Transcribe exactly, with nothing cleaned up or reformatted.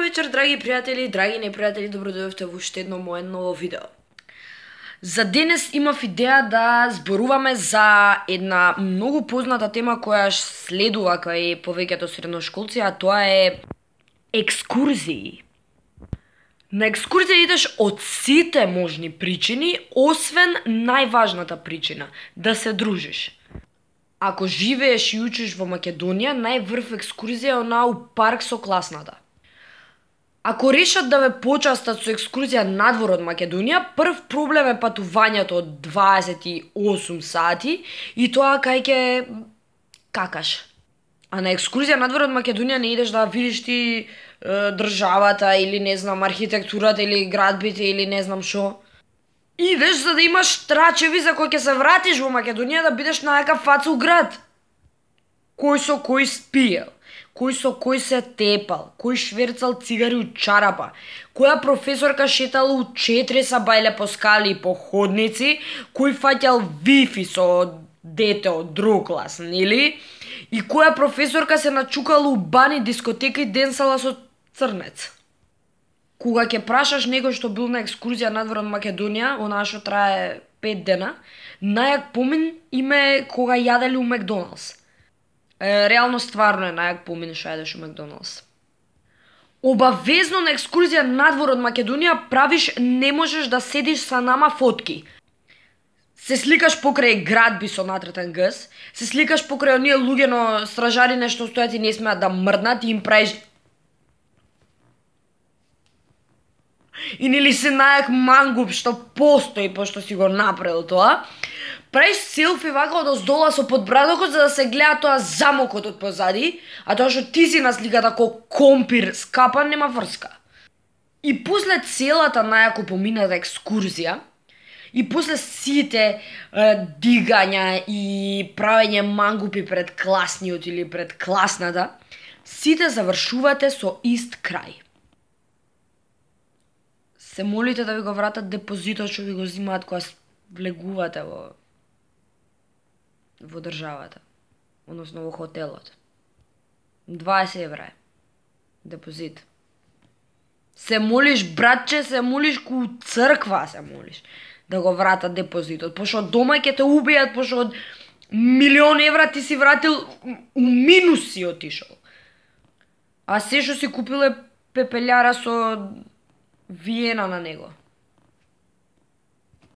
вечер, драги пријатели, драги непријатели, добродојавте во уште едно мое ново видео. За денес имав идеја да зборуваме за една многу позната тема која следува кај повеќето средношколци, а тоа е екскурзии. На екскурзија идеш од сите можни причини, освен најважната причина – да се дружиш. Ако живееш и учиш во Македонија, најврв екскурзија е онаа у парк со класната. Ако решат да ве почастат со екскурзија надвор од Македонија, прв проблем е патувањето од дваесет и осум сати и тоа кај ќе какаш. А на екскурзија надвор од Македонија не идеш да видиш ти е, државата или не знам архитектурата или градбите или не знам шо. Идеш за да имаш трачеви за кои ќе се вратиш во Македонија да бидеш најака фаца у град. Кој со кој спиел, кој со кој се тепал, кој шверцал цигари у чарапа, која професорка шетала у четири сабајле по скали и по ходници, кој фаќал вифи со дете од друг клас, нели? И која професорка се начукала у бани, дискотека и денсала со црнец. Кога ќе прашаш некој што бил на екскурзија надвор од Македонија, онаа што трае пет дена, најак помин им е кога јаделе у Макдоналдс. Е, реално стварно е најак помин што јадеш у Макдоналдс. Обавезно на екскурзија надвор од Македонија правиш не можеш да седиш са нама фотки. Се сликаш покрај градби со натретен гс, се сликаш покрај оние луѓе но стражари нешто стојат и не смеат да мрднат и им правиш и нели се најак мангуп што постои пошто си го направил тоа, правиш селфи вака од оздола со подбрадокот за да се гледа тоа замокот од позади, а тоа што ти си на сликата ко компир скапан нема врска. И после целата најако помината екскурзија, и после сите е, дигања и правење мангупи пред класниот или пред класната, сите завршувате со ист крај. Се молите да ви го вратат депозитот што ви го зимаат кога влегувате во во државата, односно во хотелот. дваесет евра е депозит. Се молиш, братче, се молиш ку црква, се молиш да го вратат депозитот, пошто дома ќе те убијат, пошто од милион евра ти си вратил у минус си отишол. А се што си купил е пепелјара со виена на него.